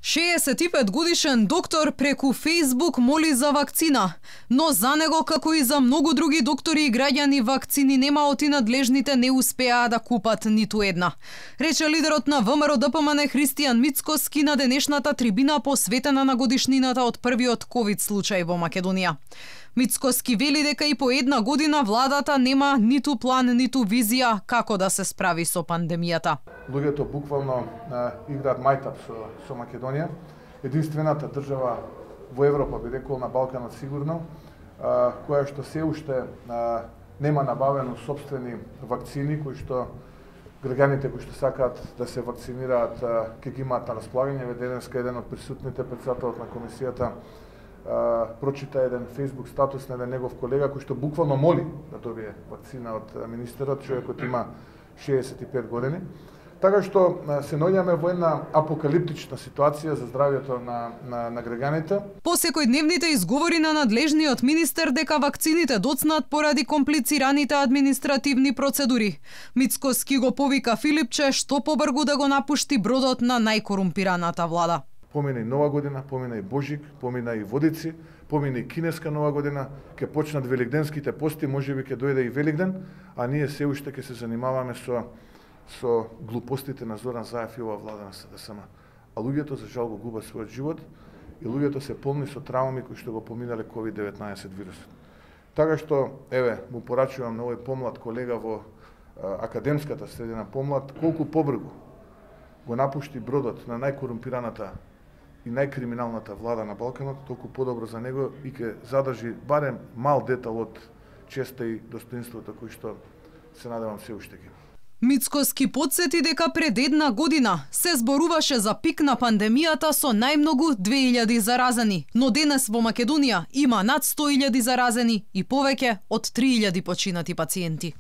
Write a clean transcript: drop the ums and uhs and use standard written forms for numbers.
65 годишен доктор преку Facebook моли за вакцина, но за него, како и за многу други доктори и граѓани, вакцини нема оти надлежните не успеа да купат ниту една. Рече лидерот на ВМРО-ДПМН Христијан Мицкоски на денешната трибина посветена на годишнината од првиот ковид случај во Македонија. Мицкоски вели дека и по една година владата нема ниту план, ниту визија како да се справи со пандемијата. Луѓето буквално играат мајтап со Македонија. Единствената држава во Европа, би рекол, на Балканот сигурно, која што се уште нема набавено сопствени вакцини кои што граѓаните кои што сакаат да се вакцинираат ќе ги имаат на располагање. Денеска еден од присутните, председателот на комисијата, прочита еден Facebook статус на еден негов колега кој што буквално моли да добие вакцина од министерот, човекот има 65 години. Така што се наоѓаме во една апокалиптична ситуација за здравјето на граѓаните. По секојдневните изговори на надлежниот министер дека вакцините доцнат поради комплицираните административни процедури, Мицкоски го повика Филипче што побргу да го напушти бродот на најкорумпираната влада. Помина и Нова година, помина и Божик, помина и Водици, помина и кинеска Нова година, ќе почнат великденските пости, можеби ќе дојде и Великден, а ние се уште ќе се занимаваме со глупостите на Зоран Заев и ова влада на СДСМ. А луѓето за жал го губат својот живот и луѓето се полни со трауми кои што го поминале COVID-19 вирусот. Така што, еве, му порачувам на овој помлад колега во академската средина, помлад, колку побргу го напушти бродот на најкорумпираната и најкриминалната влада на Балканот, толку подобро за него и ќе задржи барем мал детал од честа и достоинството кој што се надевам се уште ги. Мицкоски потсети дека пред една година се зборуваше за пик на пандемијата со најмногу 2000 заразени, но денес во Македонија има над 100.000 заразени и повеќе од 3000 починати пациенти.